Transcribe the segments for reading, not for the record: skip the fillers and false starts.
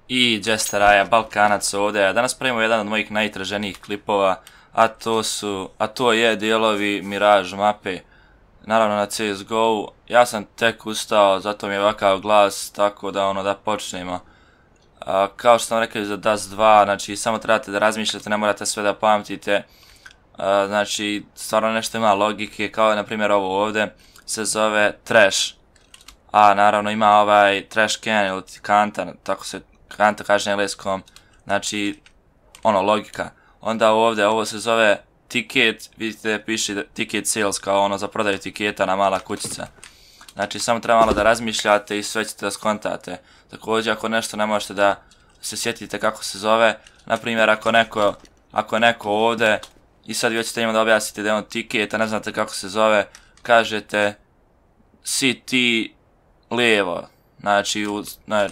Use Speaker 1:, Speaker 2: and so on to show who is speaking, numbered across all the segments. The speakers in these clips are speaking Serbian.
Speaker 1: I Jesteraja, Balkanac ovdje. Danas pravimo jedan od mojih najtraženijih klipova, a to je dijelovi Mirage mape, naravno na CSGO. Ja sam tek ustao, zato mi je ovakav glas, tako da počnemo. Kao što sam rekao za Dust 2, znači samo trebate da razmišljate, ne morate sve da pamtite. Znači stvarno nešto ima logike, kao na primjer ovo ovdje se zove Trash. A naravno ima ovaj Trash can ili kanta, tako se kanta kaže na engleskom, znači logika. Onda ovdje ovo se zove ticket, vidite piše ticket sales kao za prodaju tiketa na mala kućica. Znači samo treba malo da razmišljate i sve ćete da skontate. Također ako nešto ne možete da se sjetite kako se zove, na primjer ako neko ovdje i sad vi hoćete njima da objasnite da je on ticket, a ne znate kako se zove, kažete CT lijevo, znači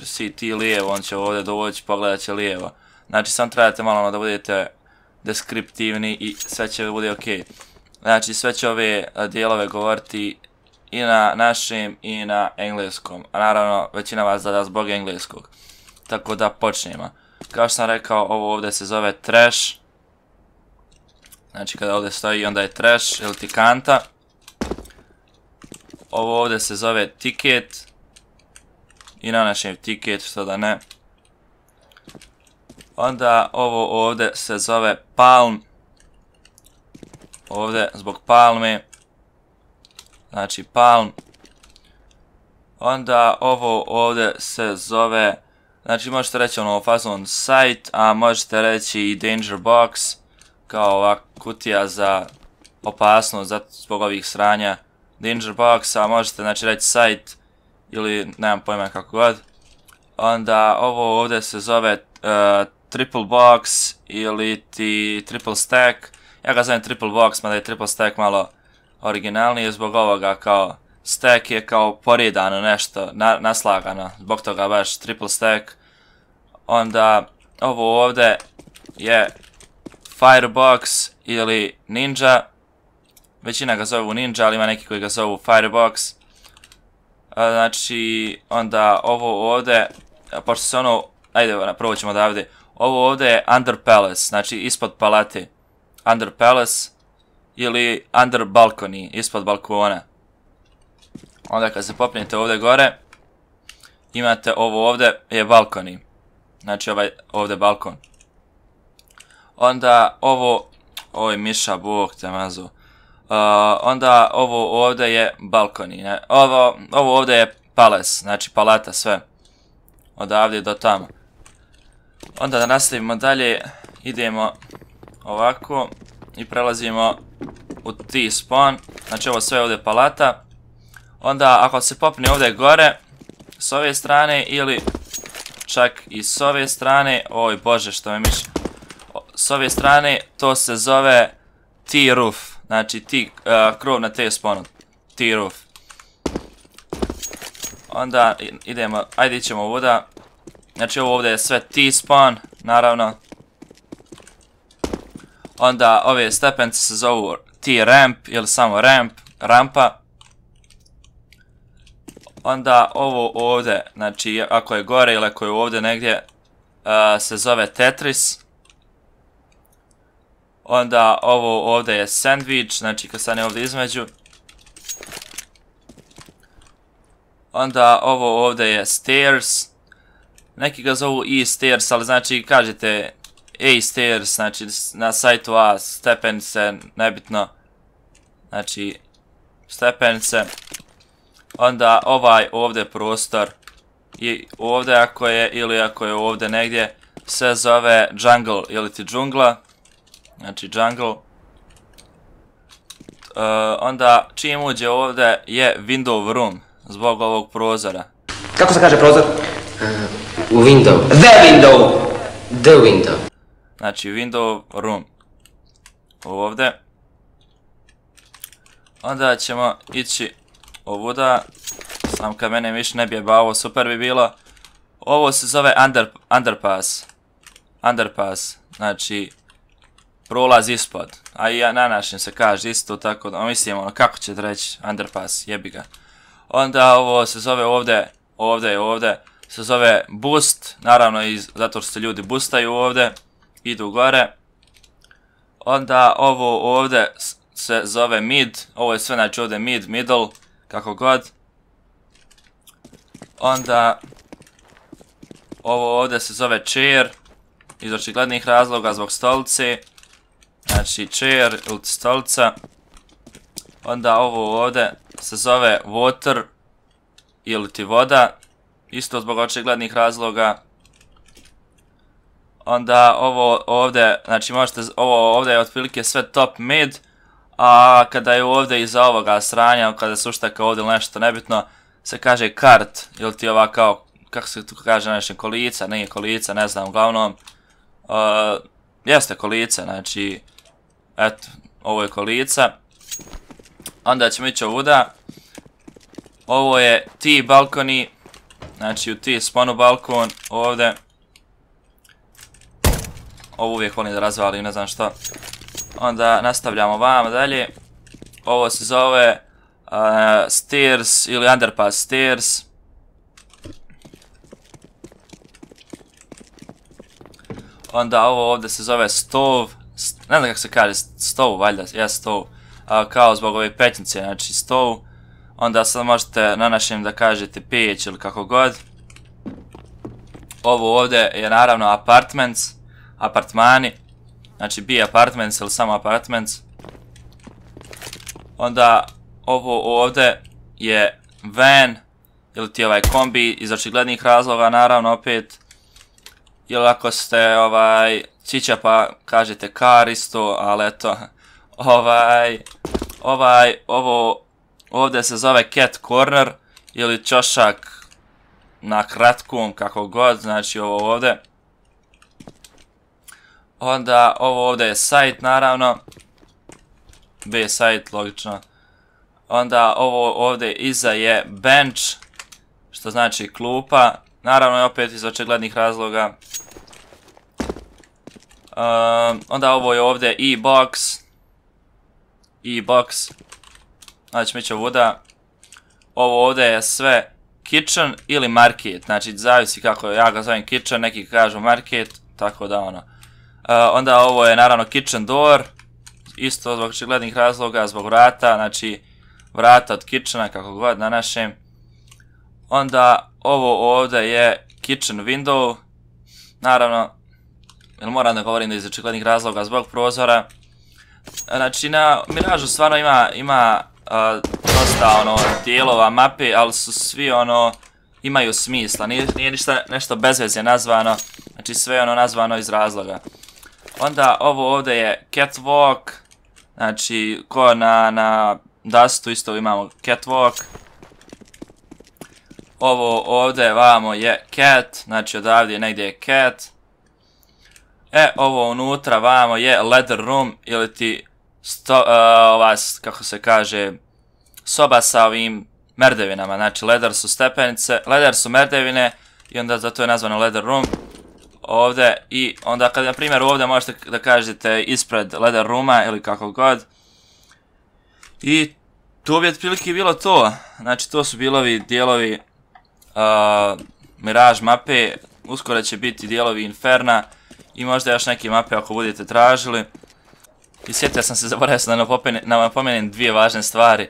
Speaker 1: CT lijevo, on će ovdje doći, pogledat će lijevo. Znači samo trebate malo da budete deskriptivni i sve će bude ok. Znači sve će ove dijelove govoriti i na našem i na engleskom, a naravno većina vas da zbog engleskog. Tako da počnemo. Kao što sam rekao, ovo ovdje se zove Trash. Znači kada ovdje stoji onda je Trash ili ti kanta. Ovo ovdje se zove Ticket. I na našem Ticket, što da ne. Onda ovo ovdje se zove Palm. Ovdje zbog palme. Znači Palm. Onda ovo ovdje se zove, znači možete reći fazon site, a možete reći i danger box, kao ova kutija za opasnost zbog ovih sranja. Danger box, a možete znači reći site ili nemam pojma kako god. Onda ovo ovdje se zove triple box ili ti triple stack. Ja ga zovem triple box, mada je triple stack malo originalnije zbog ovoga, kao stack je kao poredano nešto, naslagano, zbog toga baš triple stack. Onda ovo ovdje je firebox ili ninja. Većina ga zovu ninja, ali ima neki koji ga zovu firebox. Znači, onda ovo ovdje, pošto se ajde, prvo ćemo odavde. Ovo ovdje je under palace, znači ispod palate. Under palace ili under balcony, ispod balkona. Onda kad se popnete ovdje gore, imate ovo ovdje je balcony. Znači ovaj ovdje balkon. Onda ovo je miša, bog te mazu. Onda ovo ovdje je balcony. Ovo ovdje je palace, znači palata sve. Odavde do tamo. Onda da nastavimo dalje, idemo ovako i prelazimo u T-spawn. Znači ovo sve ovdje palata. Onda ako se popne ovdje gore, s ove strane ili čak i s ove strane, oj bože što me miši, s ove strane to se zove T-roof, znači krov na T-spawnu, T-roof. Onda idemo, ajde ićemo ovuda, znači ovo ovdje je sve T-spawn, naravno. Onda ove stepence se zovu T-ramp ili samo ramp, rampa. Onda ovo ovdje, znači ako je gore ili ako je ovdje negdje, se zove Tetris. Onda ovo ovdje je sandwich, znači kad stane ovdje između. Onda ovo ovdje je stairs. Neki ga zovu e-stairs, ali znači kažete A-stairs, znači na sajtu A, stepenice, nebitno. Znači stepenice. Onda ovaj ovdje prostor i ovdje ako je ili ako je ovdje negdje se zove jungle ili ti džungla. Znači jungle. Onda čim uđe ovdje je window room zbog ovog prozora.
Speaker 2: Kako se kaže prozor?
Speaker 3: Window.
Speaker 2: The window.
Speaker 3: The window.
Speaker 1: Znači window room. Ovdje. Onda ćemo ići ovuda. Sam kad mene više ne bi ovo super bi bilo. Ovo se zove underpass. Underpass. Znači prolaz ispod. A i na našem se kaže isto tako da mislim kako ćete reći underpass, jebi ga. Onda ovo se zove ovdje se zove boost, naravno zato što se ljudi boostaju ovdje, idu gore. Onda ovo ovdje se zove mid, ovo je sve znači ovdje mid, middle, kako god. Onda ovo ovdje se zove chair, iz očiglednih razloga zbog stolice, znači chair ili stolica. Onda ovo ovdje se zove water ili ti voda, isto zbog očiglednih razloga. Onda ovo ovdje, znači možete, ovo ovdje je otprilike sve top mid, a kada je ovdje iza ovoga sranja, kada se uštaka ovdje nešto nebitno, se kaže kart, ili ti ova kao, kako se tu kaže nešto, kolica, nije kolica, ne znam, uglavnom, jeste kolica, znači, eto, ovo je kolica. Onda ćemo ići ovuda, ovo je T balkoni, znači u T sponu balkon, ovdje. Ovo uvijek volim da razvalim, ne znam što. Onda nastavljamo vamo dalje. Ovo se zove stairs ili underpass stairs. Onda ovo ovdje se zove stove. Ne znam kako se kaže, stove, valjda, ja stove. Kao zbog ove pećnice, znači stove. Onda sad možete na našem da kažete peć ili kako god. Ovo ovdje je naravno apartments, apartmani. Znači B apartments ili samo apartments. Onda ovo ovdje je van ili ti ovaj kombi iz očiglednih razloga, naravno opet. Ili ako ste čića pa kažete car isto, ali eto. Ovo ovdje se zove cat corner ili čošak na kratkom, kako god, znači ovo ovdje. Onda ovo ovdje je site, naravno. B site, logično. Onda ovo ovdje iza je bench, što znači klupa. Naravno opet iz očiglednih razloga. Onda ovo je ovdje e-box. E-box. Znači mi će ovuda. Ovo ovdje je sve kitchen ili market. Znači zavisi kako ja ga zovem kitchen, neki kažu market, tako da ono. Onda ovo je naravno kitchen door. Isto zbog očiglednih razloga, zbog vrata, znači vrata od kitchena, kako god na našem. Onda ovo ovdje je kitchen window. Naravno, jer moram da govorim da iz očiglednih razloga zbog prozora. Znači na Miražu stvarno ima dosta dijelova mape, ali su svi imaju smisla, nije ništa nešto bez veze nazvano, znači sve je nazvano iz razloga. Onda ovo ovdje je catwalk, znači ko na Dustu isto imamo catwalk. Ovo ovdje vamo je cat, znači odavdje negdje je cat. Ovo unutra vamo je ladder room ili ti kako se kaže, soba sa ovim merdevinama, znači ladder su stepenice, ladder su merdevine i onda zato je nazvano ladder room. Ovdje i onda kad na primjer ovdje možete da kažete ispred ladder rooma ili kako god. I to bi otprilike bilo to, znači to su bilovi dijelovi Mirage mape, uskoro će biti dijelovi Inferna i možda još neke mape ako budete tražili. I sjetio sam se, zaboravio sam da napomenem dvije važne stvari.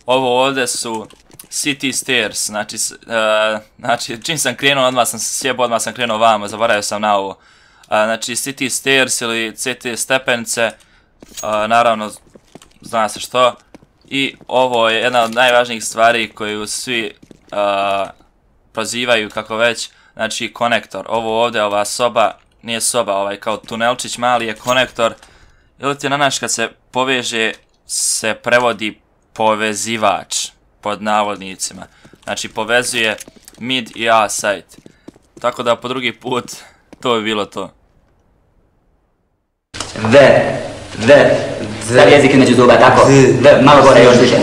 Speaker 1: Ovo ovdje su City Stairs, znači čim sam krenuo odmah sam se sjebao, odmah sam krenuo vamo, zaboravio sam na ovo. Znači City Stairs ili CT stepenice, naravno zna se što. I ovo je jedna od najvažnijih stvari koju svi prozivaju kako već, znači konektor. Ovo ovdje, ova soba, nije soba, kao tunelčić mali je konektor. Ili ti na naš kad se poveže se prevodi povezivač, pod navodnicima. Znači povezuje mid i A site. Tako da po drugi put to bi bilo to.
Speaker 2: Stavi jezik između zuba, tako. Malo gore još više.